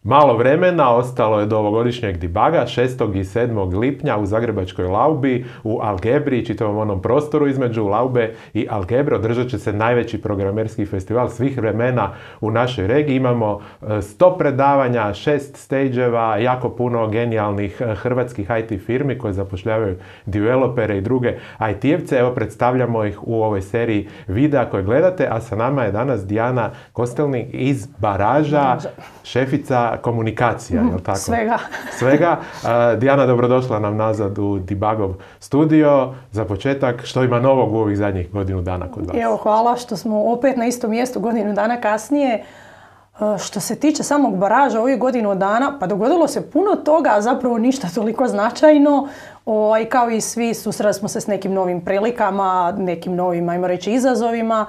Malo vremena ostalo je do ovogodišnjeg debuga 6. i 7. lipnja u Zagrebačkoj Laubi u Algebri, čitavom onom prostoru između Laube i Algebre. Održat će se najveći programerski festival svih vremena u našoj regiji. Imamo 100 predavanja, 6 stageeva, jako puno genijalnih hrvatskih IT firmi koje zapošljavaju developere i druge IT-evce. Evo, predstavljamo ih u ovoj seriji videa koje gledate, a sa nama je danas Dijana Kostelnik iz Baraža, šefica komunikacija, je li tako? Svega. Dijana, dobrodošla nam nazad u Debugov studio. Za početak, što ima novog u ovih zadnjih godinu dana kod vas? Evo, hvala što smo opet na istom mjestu godinu dana kasnije. Što se tiče samog Baraža ovih godinu dana, pa dogodilo se puno toga, a zapravo ništa toliko značajno. Kao i svi, susreli smo se s nekim novim prilikama, nekim novim, ajmo reći, izazovima.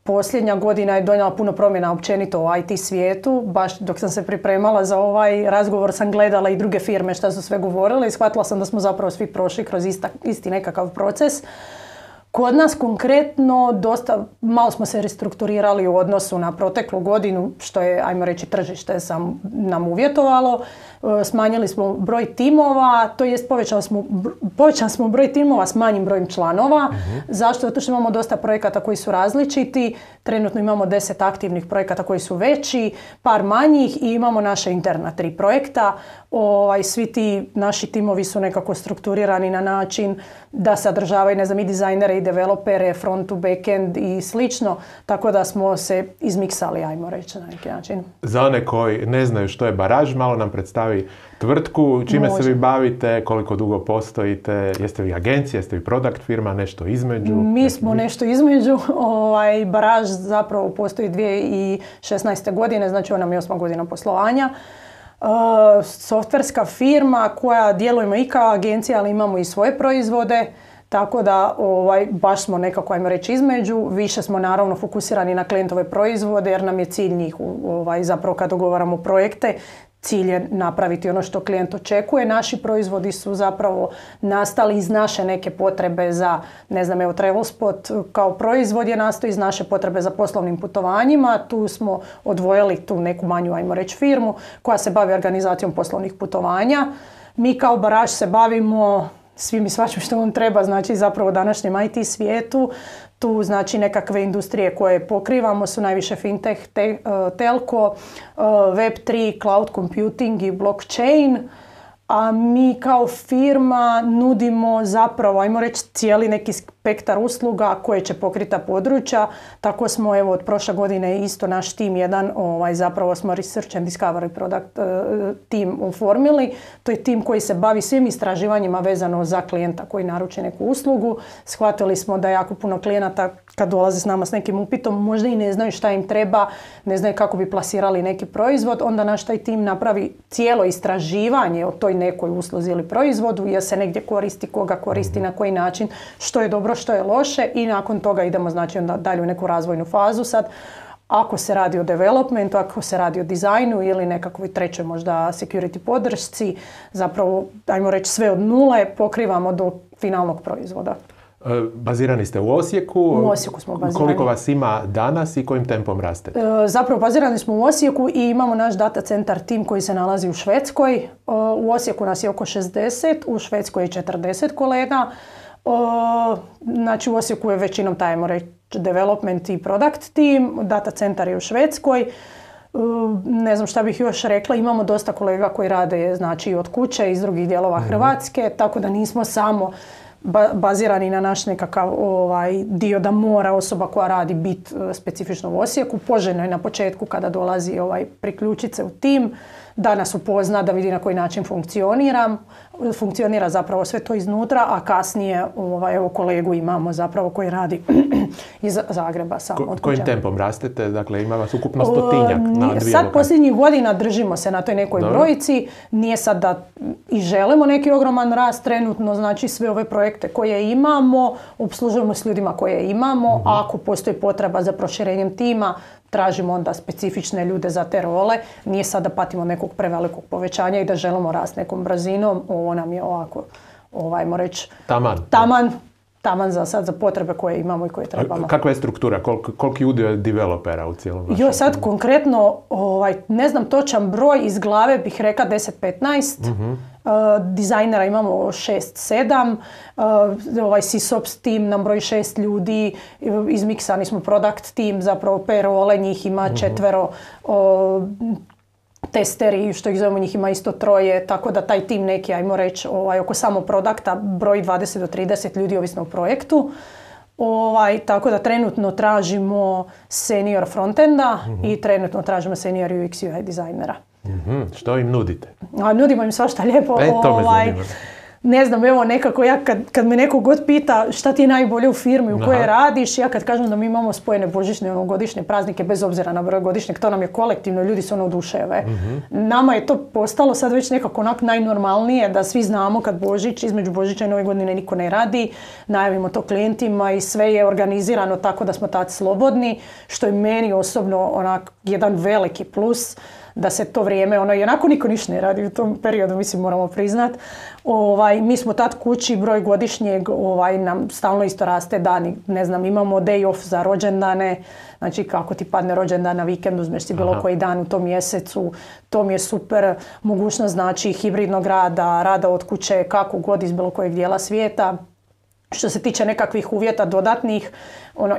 Posljednja godina je donijela puno promjena općenito u IT svijetu. Baš dok sam se pripremala za ovaj razgovor sam gledala i druge firme što su sve govorile i shvatila sam da smo zapravo svi prošli kroz isti nekakav proces. Kod nas konkretno dosta malo smo se restrukturirali u odnosu na proteklu godinu, što je, ajmo reći, tržište nam uvjetovalo. Smanjili smo broj timova, to jest povećali smo broj timova s manjim brojem članova. Zašto? Zato što imamo dosta projekata koji su različiti. Trenutno imamo 10 aktivnih projekata koji su veći, par manjih i imamo naša interna 3 projekta. Svi ti naši timovi su nekako strukturirani na način da sadržavaju, ne znam, i dizajnere i developere, front to backend i slično, tako da smo se izmiksali, ajmo reći, na neki način. Za one koji ne znaju što je Baraž, malo nam predstavi tvrtku, čime se vi bavite, koliko dugo postojite, jeste vi agencija, jeste vi product firma, nešto između? Mi smo nešto između. Baraž zapravo postoji 2016. godine, znači ona nam je 8 godina poslovanja. Softverska firma koja djelujemo i kao agencija, ali imamo i svoje proizvode, tako da baš smo nekako, ajmo reći, između. Više smo naravno fokusirani na klijentove proizvode jer nam je cilj njih, zapravo kad dogovaramo projekte, cilj je napraviti ono što klijent očekuje. Naši proizvodi su zapravo nastali iz naše neke potrebe za, ne znam, evo Travelspot kao proizvod je nastao iz naše potrebe za poslovnim putovanjima. Tu smo odvojili tu neku manju, ajmo reći, firmu koja se bavi organizacijom poslovnih putovanja. Mi kao Baraž se bavimo svim i svačim što vam treba, znači zapravo u današnjem IT svijetu. Tu znači nekakve industrije koje pokrivamo su najviše fintech, telko, web3, cloud computing i blockchain. A mi kao firma nudimo zapravo, ajmo reći, cijeli neki spektar usluga koje će pokriti ta područja. Tako smo, evo, od prošle godine isto naš tim jedan, zapravo smo Research and Discovery Product tim oformili. To je tim koji se bavi svim istraživanjima vezano za klijenta koji naruči neku uslugu. Shvatili smo da jako puno klijenata kad dolaze s nama s nekim upitom možda i ne znaju šta im treba, ne znaju kako bi plasirali neki proizvod. Onda naš taj tim napravi cijelo istraživanje o toj nekoj usluzi ili proizvodu, jer se negdje koristi, koga koristi, na koji način, što je dobro, što je loše i nakon toga idemo, znači, onda dalje u neku razvojnu fazu. Sad, ako se radi o developmentu, ako se radi o dizajnu ili nekakvoj trećoj možda security podršci, zapravo, ajmo reći, sve od nule pokrivamo do finalnog proizvoda. Bazirani ste u Osijeku. U Osijeku smo bazirani. Koliko vas ima danas i kojim tempom rastete? Zapravo bazirani smo u Osijeku i imamo naš data centar tim koji se nalazi u Švedskoj. U Osijeku nas je oko 60, u Švedskoj je 40 kolega. Znači u Osijeku je većinom taj, ajmo reći, development i product team. Data centar je u Švedskoj. Ne znam šta bih još rekla, imamo dosta kolega koji rade, znači, od kuće iz drugih dijelova Hrvatske, tako da nismo samo bazirani na naš nekakav dio da mora osoba koja radi biti specifično u Osijeku. Poželjno je na početku kada dolazi priključiti se u tim, da nas upozna, da vidi na koji način funkcionira zapravo sve to iznutra, a kasnije evo kolegu imamo zapravo koji radi iz Zagreba samo od kuće. Kojim tempom rastete? Dakle, ima vas ukupno 100-tinjak na 2 lokacije. Sad posljednjih godina držimo se na toj nekoj brojici. Nije sad da i želimo neki ogroman rast trenutno, znači sve ove projekte koje imamo, obslužujemo s ljudima koje imamo, a ako postoji potreba za proširenjem tima, tražimo onda specifične ljude za te role. Nije sad da patimo nekog prevelikog povećanja i da želimo rast nekom brzinom. Ovo nam je ovako, ajmo reći, taman taman za sad za potrebe koje imamo i koje trebamo. Kakva je struktura? Koliki udio developera u cijelom vašem? Jo, sad konkretno, ne znam točan broj, iz glave bih rekla 10-15. Dizajnera imamo 6-7, SysOps tim nam broji 6 ljudi, izmiksani smo product tim, zapravo payroll, njih ima 4, testeri, što ih zovemo, njih ima isto 3, tako da taj tim neki, ajmo reći, oko samo produkta broji 20 do 30 ljudi ovisno o projektu. Tako da trenutno tražimo senior frontenda i trenutno tražimo senior UX UI dizajnera. Što im nudite? Nudimo im svašta lijepo. To me zanima. Ne znam, evo nekako ja kad me neko god pita šta ti je najbolje u firmi u kojoj radiš, ja kad kažem da mi imamo spojene božićne godišnje praznike bez obzira na broj godišnjeg, to nam je kolektivno, ljudi se oduševe. Nama je to postalo sad već nekako onako najnormalnije da svi znamo kad Božić, između Božića i Nove godine niko ne radi, najavimo to klijentima i sve je organizirano tako da smo tad slobodni, što je meni osobno onak jedan veliki plus. Da se to vrijeme, i onako niko ništa ne radi u tom periodu, mislim, moramo priznat. Mi smo tad kući, broj godišnjeg nam stalno isto raste dani. Ne znam, imamo day off za rođendane, znači kako ti padne rođendan na vikend, uzmeš si bilo koji dan u tom mjesecu. To mi je super mogućnost, znači hibridnog rada od kuće, kako god iz bilo kojeg dijela svijeta. Što se tiče nekakvih uvjeta dodatnih,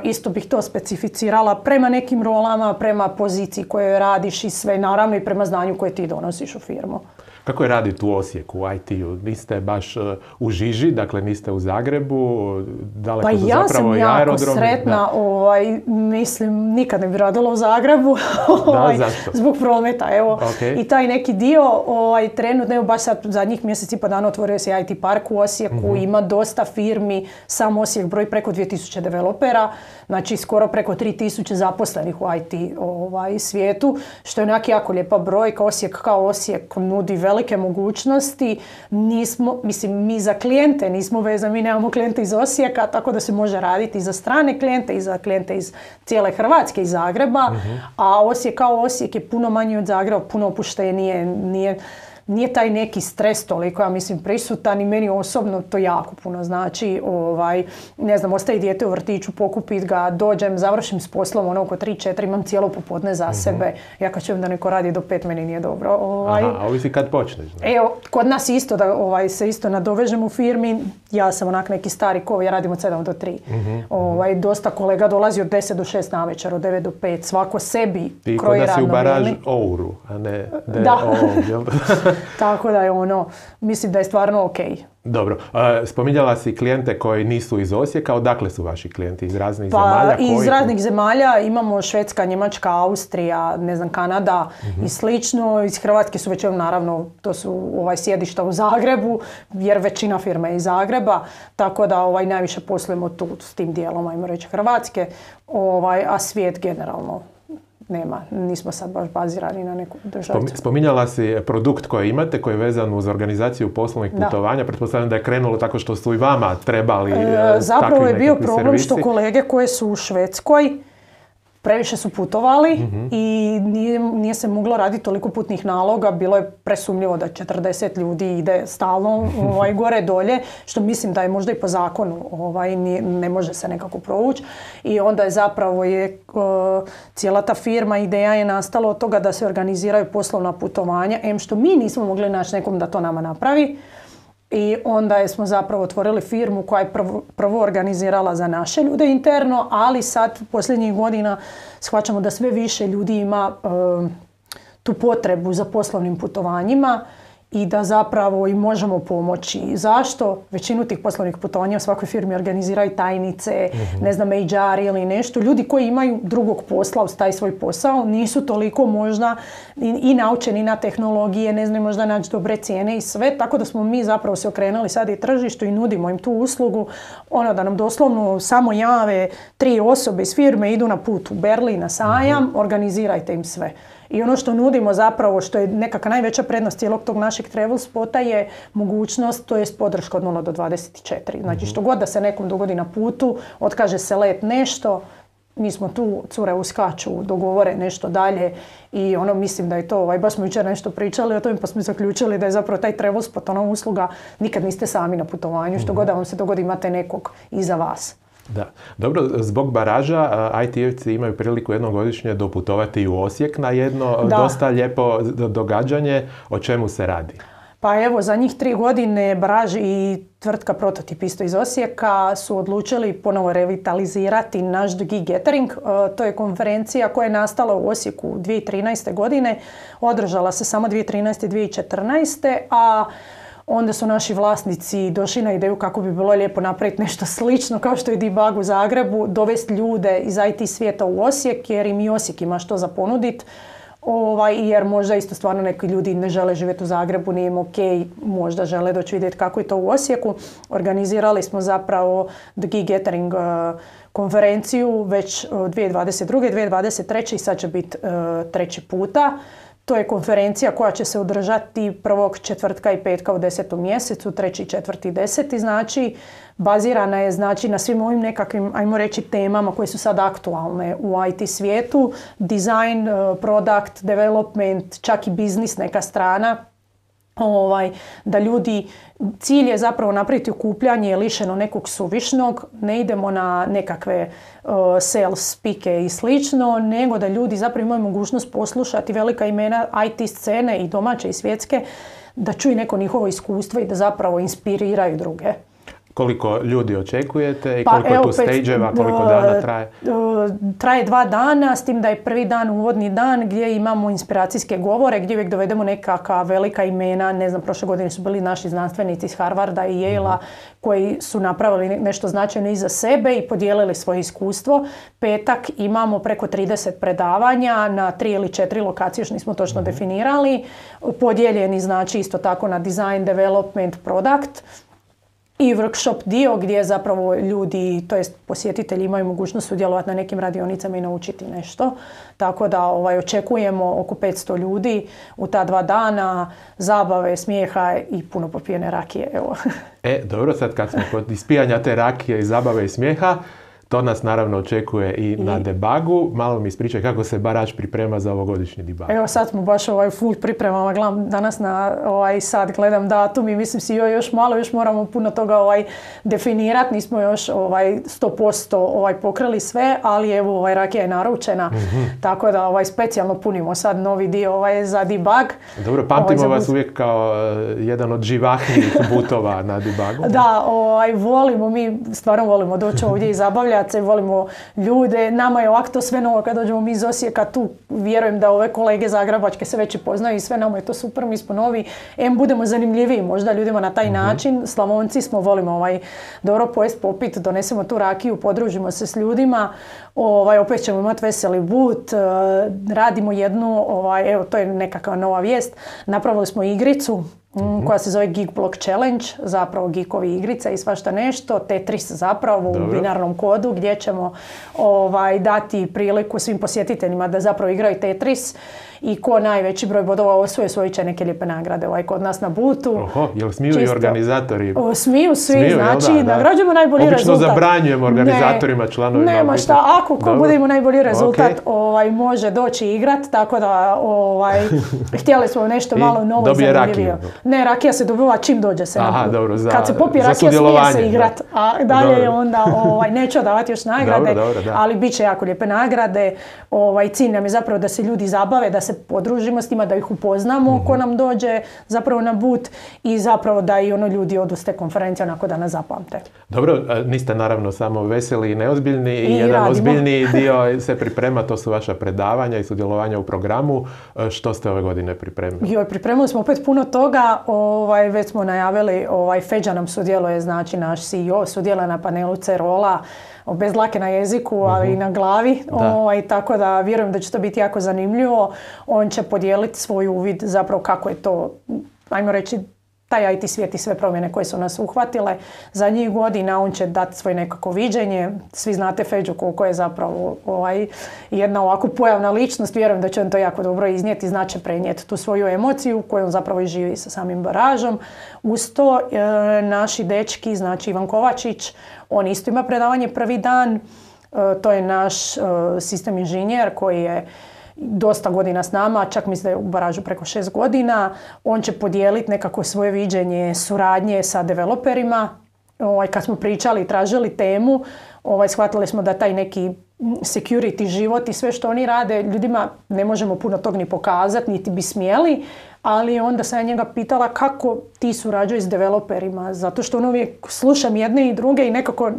isto bih to specificirala prema nekim rolama, prema poziciji kojoj radiš i sve, naravno i prema znanju koje ti donosiš u firmu. Kako je raditi u Osijeku, u IT-u? Niste baš u žiži, dakle niste u Zagrebu, daleko su zapravo i aerodromi. Pa ja sam jako sretna, mislim, nikad ne bi radila u Zagrebu, zbog prometa, evo. Okay. I taj neki dio, trenutno, evo baš sad zadnjih mjeseci pa dana otvorio se IT park u Osijeku, ima dosta firmi, sam Osijek broji preko 2000 developera, znači skoro preko 3000 zaposlenih u IT svijetu, što je onak jako lijepa brojka. Osijek kao Osijek nudi velike mogućnosti. Mi za klijente nismo vezani, mi nemamo klijente iz Osijeka, tako da se može raditi i za strane klijente i za klijente iz cijele Hrvatske, iz Zagreba, a Osijek kao Osijek je puno manji od Zagreba, puno opuštenije, nije taj neki stres toliko, ja mislim, prisutan i meni osobno to jako puno znači. Ne znam, ostaje dijete u vrtiću, pokupit ga, dođem, završim s poslom, oko 3-4, imam cijelo popodne za sebe. Ja kad čujem da neko radi do 5, meni nije dobro. A ovisi kad počneš. Evo, kod nas isto, da se isto nadovežem u firmi, ja sam onak neki stari kov, ja radim od 7 do 3. Dosta kolega dolazi od 10 do 6 navečer, od 9 do 5, svako sebi kroji radno vrijeme. Ti kod da si u baraž Ouru, a ne Tako da je mislim da je stvarno ok. Dobro. Spominjala si klijente koji nisu iz Osijeka. Odakle su vaši klijenti? Iz raznih zemalja? Iz raznih zemalja. Imamo Švedska, Njemačka, Austrija, ne znam, Kanada i slično. Iz Hrvatske su većinom, naravno, to su sjedišta u Zagrebu, jer većina firme je iz Zagreba. Tako da najviše poslujemo tu s tim dijelom, ajmo reći, Hrvatske. A svijet generalno nema, nismo sad baš bazirani na neku državu. Spominjala si produkt koji imate, koji je vezan uz organizaciju poslovnih putovanja. Pretpostavljam da je krenulo tako što su i vama trebali zapravo je bio problem što kolege koje su u Švedskoj previše su putovali i nije se moglo raditi toliko putnih naloga, bilo je presumnjivo da 40 ljudi ide stalno gore dolje, što mislim da je možda i po zakonu ne može se nekako provući. I onda je zapravo cijela ta firma, ideja je nastala od toga da se organiziraju poslovna putovanja, što mi nismo mogli naći nekom da to nama napravi. I onda smo zapravo otvorili firmu koja je prvo organizirala za naše ljude interno, ali sad posljednjih godina shvaćamo da sve više ljudi ima tu potrebu za poslovnim putovanjima i da zapravo im možemo pomoći. Zašto? Većinu tih poslovnih putovanja u svakoj firmi organiziraju tajnice, ne znam, HR ili nešto. Ljudi koji imaju drugog posla uz taj svoj posao nisu toliko možda i naučeni na tehnologije, ne znaju možda naći dobre cijene i sve. Tako da smo mi zapravo se okrenuli sad i tržištu i nudimo im tu uslugu. Da nam doslovno samo jave 3 osobe iz firme, idu na put u Berlin na sajam, organizirajte im sve. I ono što nudimo zapravo, što je nekakva najveća prednost cijelog tog našeg travel spota je mogućnost, to je podrška od 0 do 24. Znači što god da se nekom dogodi na putu, otkaže se let nešto, mi smo tu, cure uskaču, dogovore nešto dalje i mislim da je to, baš smo jučer nešto pričali o tome pa smo zaključili da je zapravo taj travel spot, usluga, nikad niste sami na putovanju, što god da vam se dogodi imate nekog iza vas. Da. Dobro, zbog baraža IT-evci imaju priliku jednom godišnje doputovati u Osijek na jedno dosta lijepo događanje. O čemu se radi? Pa evo, za njih 3 godine Baraž i tvrtka Prototip isto iz Osijeka su odlučili ponovo revitalizirati naš The Geek Gathering. To je konferencija koja je nastala u Osijeku 2013. godine. Održala se samo 2013. i 2014. A onda su naši vlasnici došli na ideju kako bi bilo lijepo napraviti nešto slično kao što je Debug u Zagrebu, dovesti ljude iz IT svijeta u Osijek jer im i Osijek ima što za ponuditi. Jer možda isto stvarno neki ljudi ne žele živjeti u Zagrebu, nije im ok, možda žele doći vidjeti kako je to u Osijeku. Organizirali smo zapravo The Geek Gathering konferenciju već 2022. 2023. i sad će biti 3. puta. To je konferencija koja će se održati 1. četvrtka i petka u 10. mjesecu, 3., 4. i 10. Znači, bazirana je na svim ovim nekakvim, ajmo reći, temama koje su sad aktualne u IT svijetu. Design, product, development, čak i biznis neka strana. Da ljudi, cilj je zapravo napraviti okupljanje lišeno nekog suvišnog, ne idemo na nekakve sales spike i slično, nego da ljudi zapravo imaju mogućnost poslušati velika imena IT scene i domaće i svjetske, da čuju neko njihovo iskustvo i da zapravo inspiriraju druge. Koliko ljudi očekujete i koliko je tu stage-eva, koliko dana traje? Traje 2 dana, s tim da je prvi dan uvodni dan gdje imamo inspiracijske govore, gdje uvijek dovedemo nekakva velika imena. Ne znam, prošle godine su bili naši znanstvenici iz Harvarda i Yale-a koji su napravili nešto značajno iza sebe i podijelili svoje iskustvo. Petak imamo preko 30 predavanja na 3 ili 4 lokacije, još nismo točno definirali. Podijeljeni znači isto tako na design, development, product. I workshop dio gdje zapravo ljudi, to jest posjetitelji, imaju mogućnost sudjelovati na nekim radionicama i naučiti nešto. Tako da očekujemo oko 500 ljudi u ta 2 dana, zabave, smijeha i puno popijene rakije. Evo. Dobro, sad kad smo kod ispijanja te rakije i zabave i smijeha, to nas naravno očekuje i na debugu. Malo mi ispričaj kako se Baraž priprema za ovogodišnji debug. Evo sad smo baš full pripremama. Gledam danas na sad gledam datum i mislim si još malo, još moramo puno toga definirati. Nismo još 100% pokrili sve, ali evo rakija je naručena. Tako da specijalno punimo sad novi dio za debug. Dobro, pamtimo vas uvijek kao jedan od živahnijih butova na debugu. Da, volimo, mi stvarno volimo doći ovdje i zabavljati se, volimo ljude. Nama je ovako to sve novo kad dođemo mi iz Osijeka, tu vjerujem da ove kolege zagrebačke se već i poznaju i sve, nama je to super, mi smo novi. Budemo zanimljiviji možda ljudima na taj način. Slavonci smo, volimo dobro pojest, popit, donesemo tu rakiju, podružimo se s ljudima. Opet ćemo imati veseli but, radimo jednu, evo to je nekakva nova vijest, napravili smo igricu koja se zove Geek Block Challenge, zapravo geekovi igrica i svašta nešto, Tetris zapravo u binarnom kodu gdje ćemo dati priliku svim posjetiteljima da zapravo igraju Tetris i ko najveći broj bodova osvoji će neke lijepe nagrade kod nas na butu. Oho, jel smiju i organizatori? Smiju svi, znači nagrađujemo najbolji rezultat. Obično zabranjujemo organizatorima, članovima. Nema šta, ako ko bude imao najbolji rezultat može doći igrat, tako da htjeli smo nešto malo novo i zanimljivije. Ne, rakija se dobiva čim dođe se na butu. Dobro, kad se popije rakija smije se igrat, a dalje onda neću davati još nagrade, ali bit će jako lijepe nagrade. Cilj nam je zapravo da se ljudi zabave, da se podružimo s njima, da ih upoznamo ko nam dođe zapravo na but i zapravo da i ljudi odu s te konferencije onako da nas zapamte. Dobro, niste naravno samo veseli i neozbiljni i jedan ozbiljniji dio se priprema, to su vaša predavanja i sudjelovanja u programu. Što ste ove godine pripremili? Pripremili smo opet puno toga, već smo najavili, Feđa nam sudjeluje, znači naš CEO sudjeluje na panelu C-Rolla, bez dlake na jeziku, ali i na glavi. Tako da vjerujem da će to biti jako zanimljivo. On će podijeliti svoj uvid zapravo kako je to, ajmo reći, taj IT svijet i sve promjene koje su nas uhvatile za njih godina. On će dati svoje nekako viđenje. Svi znate Feđu koliko je zapravo jedna ovako pojavna ličnost. Vjerujem da će on to jako dobro iznijeti, znači prenijeti tu svoju emociju koju on zapravo i živi sa samim Baražom. Uz to naši dečki, znači Ivan Kovačić, on isto ima predavanje prvi dan. To je naš sistem inženjer koji je dosta godina s nama, čak mislim da je u baražu preko 6 godina. On će podijeliti nekako svoje viđenje suradnje sa developerima. Kad smo pričali i tražili temu, shvatili smo da taj neki security život i sve što oni rade, ljudima ne možemo puno tog ni pokazati, niti bi smjeli, ali onda sam ja njega pitala kako ti surađuješ s developerima, zato što uvijek slušam jedne i druge i nekako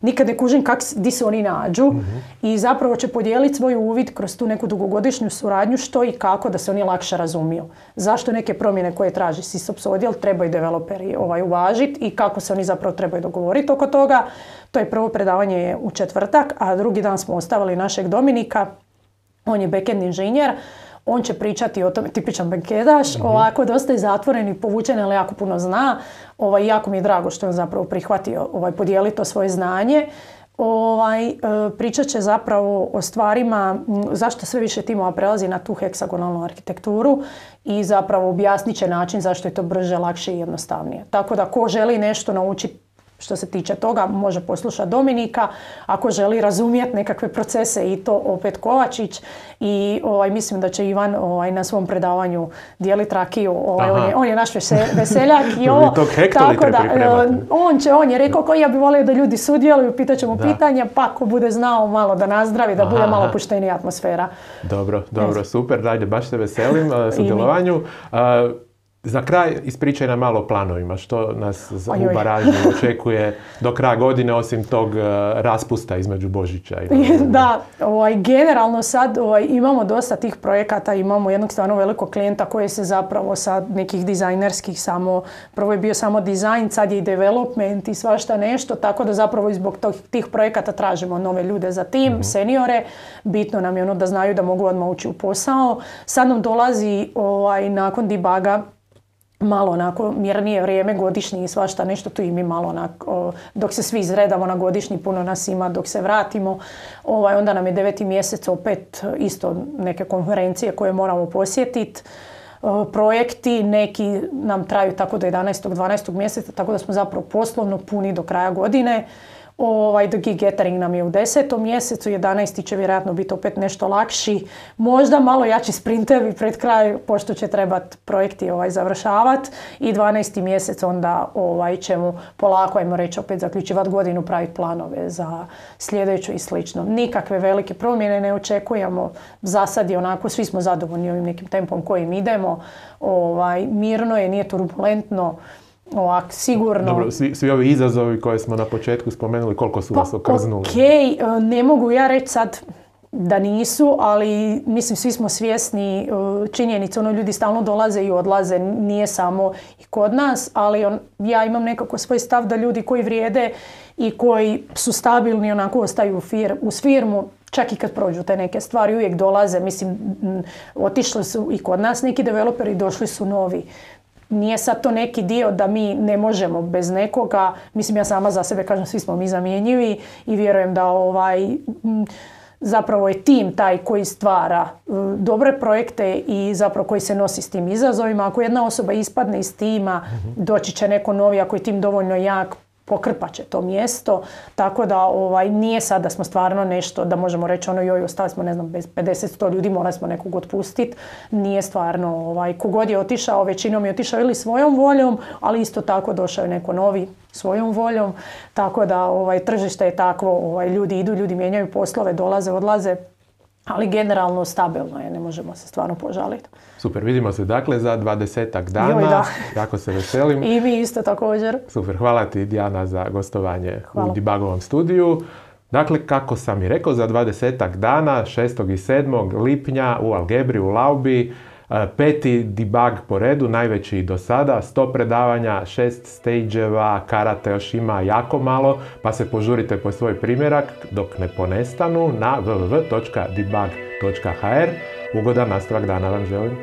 nikad ne kužim di se oni nađu i zapravo će podijeliti svoj uvid kroz tu neku dugogodišnju suradnju što i kako da se oni lakše razumiju. Zašto neke promjene koje traži SysOps odjel trebaju developeri uvažiti i kako se oni zapravo trebaju dogovoriti oko toga. To je prvo predavanje u četvrtak, a drugi dan smo ostavili našeg Dominika, on je backend inženjer. On će pričati o tome, tipičan bankedaš, ovako dosta je zatvoren i povučen, ali jako puno zna. Jako mi je drago što je on zapravo prihvatio podijeliti to svoje znanje. Pričat će zapravo o stvarima zašto sve više timova prelazi na tu heksagonalnu arhitekturu i zapravo objasnit će način zašto je to brže, lakše i jednostavnije. Tako da ko želi nešto naučiti što se tiče toga, može poslušati Dominika. Ako želi razumjeti nekakve procese i to opet Kovačić. I mislim da će Ivan na svom predavanju dijeliti rakiju. On je naš veseljak. I ovo, tako da, on je rekao koji ja bi volio da ljudi sudjeluju, pitat ćemo pitanja, pa ako bude znao malo da nazdravi, da bude malo puštenija atmosfera. Dobro, super, dajde, baš se veselim sudjelovanju. Za kraj ispričaj nam malo o planovima, što nas u baraži očekuje do kraja godine osim tog raspusta između Božića i Da, generalno sad imamo dosta tih projekata, imamo jednog stvarno velikog klijenta koji se zapravo sad nekih dizajnerskih prvo je bio samo dizajn, sad je i development i svašta nešto, tako da zapravo zbog tih projekata tražimo nove ljude za tim, seniore, bitno nam je da znaju da mogu odmah ući u posao. Sad nam dolazi nakon debuga malo onako mirnije vrijeme, godišnji i svašta nešto, tu i mi malo onako, dok se svi izredamo na godišnji, puno nas ima, dok se vratimo, onda nam je 9. mjesec opet isto neke konferencije koje moramo posjetiti. Projekti, neki nam traju tako do 11. 12. mjeseca, tako da smo zapravo poslovno puni do kraja godine. The Gig Gathering nam je u 10. mjesecu, 11. će vjerojatno biti opet nešto lakši, možda malo jači sprintevi pred kraj, pošto će trebati projekti završavati i 12. mjesec onda ćemo polako, ajmo reći, opet zaključivati godinu, praviti planove za sljedeću i slično. Nikakve velike promjene ne očekujemo, za sad je onako, svi smo zadovoljni ovim nekim tempom kojim idemo, mirno je, nije turbulentno. Ovak, sigurno. Dobro, svi ovi izazovi koje smo na početku spomenuli, koliko su vas okrznuli? Ne mogu ja reći sad da nisu, ali mislim svi smo svjesni činjenice, ljudi stalno dolaze i odlaze, nije samo i kod nas, ali ja imam nekako svoj stav da ljudi koji vrijede i koji su stabilni onako ostaju uz firmu, čak i kad prođu te neke stvari, uvijek dolaze, mislim, otišli su i kod nas neki developeri, došli su novi. Nije sad to neki dio da mi ne možemo bez nekoga, mislim ja sama za sebe kažem svi smo mi zamjenjivi i vjerujem da zapravo je tim taj koji stvara dobre projekte i zapravo koji se nosi s tim izazovima. Ako jedna osoba ispadne iz tima, doći će neko novi, ako je tim dovoljno jak, pokrpat će to mjesto, tako da nije sad da smo stvarno nešto, da možemo reći joj, ostali smo, ne znam, bez 50-100 ljudi, morali smo nekog otpustiti. Nije stvarno, kogod je otišao, većinom je otišao ili svojom voljom, ali isto tako došao je neko novi svojom voljom, tako da tržište je takvo, ljudi idu, ljudi mijenjaju poslove, dolaze, odlaze, ali generalno stabilno je, ne možemo se stvarno požaliti. Super, vidimo se dakle za 20-ak dana, jako se veselim. I mi isto također. Super, hvala ti Dijana za gostovanje u Debugovom studiju. Dakle, kako sam i rekao, za 20-ak dana, 6. i 7. lipnja u Algebri u Laubi, 5. debug po redu, najveći do sada, 100 predavanja, 6 stage-eva, karate još ima jako malo, pa se požurite po svoj primjerak dok ne ponestanu na www.debug.hr. Ugodan nastavak dana vam želim.